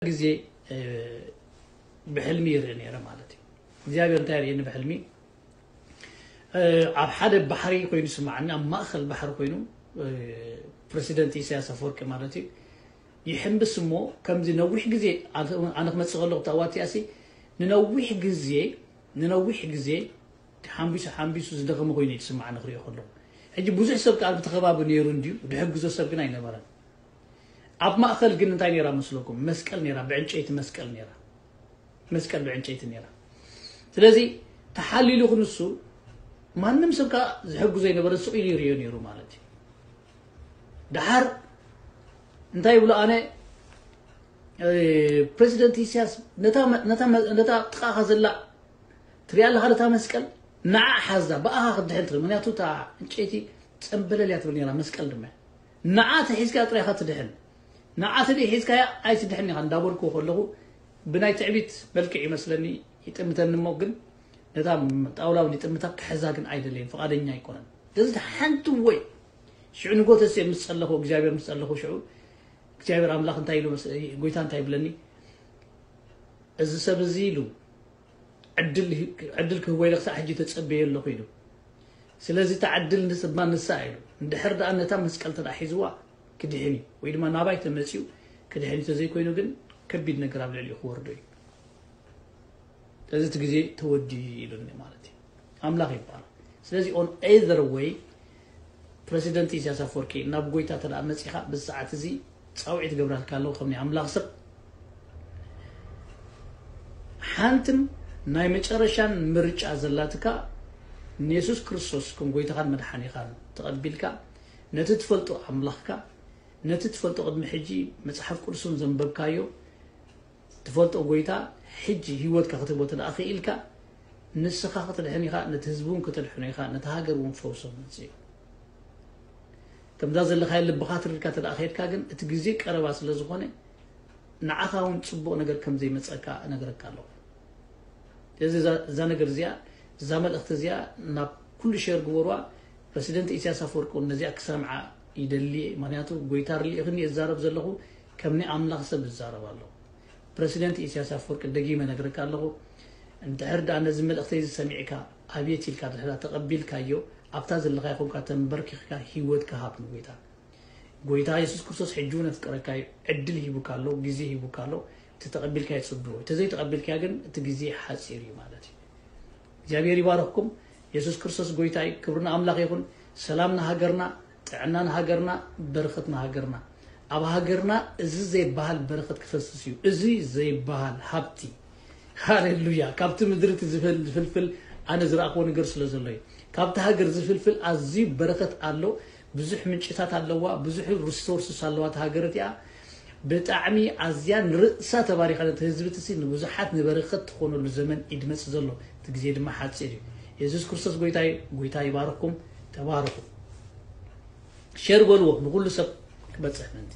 ግዜ ብሕልሚ ይርኢ ነይረ ማለት እዩ። እግዚኣብሔር እንታይ ርእየኒ ብሕልሚ? ኣብ ሓደ ባሕሪ ኮይኑ ይስማዓኒ፣ ኣብ ማእኸል ባሕሪ ኮይኑ፣ ፕረሲደንት ኢሳያስ ኣፈወርቂ ማለት እዩ፣ ይሕምብስ እሞ ከምዚ ነዊሕ ግዜ፣ ኣነ ክመፅእ ከለኹ ታዋቲኣሲ ንነዊሕ ግዜ ንነዊሕ ግዜ ሓምቢሱ ሓምቢሱ ዝደኸመ ኮይኑ ይስማዓኒ ክሪኦ ከለኹ። ሕጂ ብዙሕ ሰብ ከዓ ኣብቲ ከባቢ ነይሩ እንድዩ፣ ድሕግዞ ሰብ ግን ኣይነበረን። ኣብ ማእኸል ግን እንታይ ነይራ መስለኩም? መስቀል ነይራ፣ ብዕንጨይቲ መስቀል ነይራ። መስቀል ብዕንጨይቲ ነይራ። ስለዚ ተሓሊሉ ክንሱ ማንም ሰብ ከዓ ዝሕግዞ ኣይነበረ፣ ስቕ ኢሉ ይሪኦ ነይሩ ማለት እዩ። ደሓር እንታይ ይብሎ? ኣነ ፕረዚደንት ኢሳያስ ነታ ጥቃኻ ዘላ ትሪኣ ኣለኻ ነታ መስቀል፣ ንዓ ሓዛ፣ ብኣኻ ክትድሕን ትኽእል። ምክንያቱ እታ ዕንጨይቲ ጸምበለል እያ ትብል ነይራ፣ መስቀል ድማ። ንዓ ተሒዝካ ጥራይ ኢኻ ትድሕን። ንዓ ተደይ ሒዝካያ ኣይትድሕን ኢኻ እንዳበልኩ ከለኹ ብናይ ትዕቢት መልክዕ ይመስለኒ ይጥምተኒ እሞ ግን ነታ ጣውላ እውን ይጥምታ ክሕዛ ግን ኣይደለይን፣ ፍቓደኛ ኣይኮነን። ስለዚ ሓንቲ ወይ ሽዑ ንጎተስ ምስ ጸለኹ እግዚኣብሔር ምስ ጸለኹ ሽዑ እግዚኣብሔር ኣምላኽ እንታይ ኢሉ መስ- ጎይታ እንታይ ይብለኒ? እዚ ሰብ እዚ ኢሉ ዕድል ዕድል ክህቦ ኢለ ክሳዕ ሕጂ ተጸበየ ኣለኹ ኢሉ። ስለዚ እታ ዕድል ንስማ ንሳ ኢሉ እንድሕር ደኣ ነታ መስቀል ተደኣ ሒዝዋ ክድሕን እዩ ወይ ድማ ናባይ ተመጺኡ ክድሕን እዩ፣ ተዘይኮይኑ ግን ከቢድ ነገር ኣብ ልዕሊኡ ክወርዶ እዩ። ስለዚ እቲ ግዜ ተወዲኡ ኢሉኒ ማለት እዩ። ኣምላኽ ይባረክ። ስለዚ on either way ፕረሲደንት ኢሳያስ ኣፈወርቂ ናብ ጎይታ ተደኣ መጺኻ ብዚ ሰዓት እዚ ጻውዒት ገብራልካ ኣለኹ ከም ናይ ኣምላኽ ሰብ። ሓንትን ናይ መጨረሻን ምርጫ ዘላትካ ንየሱስ ክርስቶስ ከም ጎይታኻን መድሓኒኻን ተቐቢልካ ነቲ ትፈልጦ ኣምላኽካ ነቲ ትፈልጦ ቅድሚ ሕጂ መጽሓፍ ቅዱስን ዘንበብካዮ ትፈልጦ ጎይታ ሕጂ ህይወትካ ክትህቦ ተደኣ ክኢልካ ንስኻ ክትድሕን ኢኻ፣ ነቲ ህዝቢ እውን ክተድሕኖ ኢኻ፣ ነቲ ሃገር እውን ፈውሶ መጽእ እዩ። ከምዛ ዘለኻዮ ልብኻ ትርድካ ተደኣ ከድካ ግን እቲ ግዜ ቀረባ ስለ ዝኾነ ንዓኻ እውን ጽቡቕ ነገር ከም ዘይመጸካ እነግረካ ኣለኹ። ስለዚ እዛ እዛ ነገር እዚኣ እዛ መልእኽቲ እዚኣ ናብ ኩሉ ሸር ግበሩዋ። ፕረሲደንት ኢሳያስ ኣፈወርቂ እውን ነዚኣ ክሰምዓ ይደሊ እየ። ምክንያቱ ጎይታ ርልኢኽኒ እዛረብ ዘለኹ ከም ናይ ኣምላኽ ሰብ እዛረብ ኣለኹ። ፕረሲደንት ኢሳያስ ኣፈወርቂ ደጊመ ነግረካ ኣለኹ። እንድሕር ደኣ ነዚ መልእኽተይ እዚ ሰሚዕካ ኣብየት ኢልካ ድሕራ ተቐቢልካዮ ኣብታ ዘለኻ ይኹንካ ተንበርኪኽካ ህይወትካ ሃብ ንጎይታ። ጎይታ የሱስ ክርስቶስ ሕጂ እውን ኣፍቅረካ እዩ። ዕድል ሂቡካ ኣሎ፣ ግዜ ሂቡካ ኣሎ። እቲ ተቐቢልካዮ ጽብቕ እዩ። ተዘይተቐቢልካዮ ግን እቲ ግዜ ሓጺር እዩ ማለት እዩ። እግዚኣብሔር ይባርኽኩም። የሱስ ክርስቶስ ጎይታ እዩ። ክብሪ ንኣምላኽ ይኹን። ሰላም ንሃገርና፣ ጥዕና ንሃገርና፣ በረኸት ንሃገርና። ኣብ ሃገርና እዚ ዘይበሃል በረኸት ክፈስስ እዩ። እዚ ዘይበሃል ሃብቲ ሃሌሉያ። ካብቲ ምድሪ እቲ ዝፈል- ዝፍልፍል ኣነ ዝረኣኽዎ ነገር ስለ ዘሎ እዩ። ካብቲ ሃገር ዝፍልፍል ኣዝዩ በረኸት ኣሎ። ብዙሕ ምንጭታት ኣለዋ፣ ብዙሕ ሪሶርስስ ኣለዋ እታ ሃገር እቲኣ። ብጣዕሚ ኣዝያ ንርእሳ ተባሪኻ ነቲ ህዝቢ እቲ ንብዙሓት ንበረኸት ትኾነሉ ዘመን እዩ ድመጽእ ዘሎ። እቲ ግዜ ድማ ሓጺር እዩ። የሱስ ክርስቶስ ጎይታ እዩ። ጎይታ ይባርኽኩም። ተባረኹ። ሸር በልዎ ንኹሉ ሰብ ክበጽሕ ምእንቲ።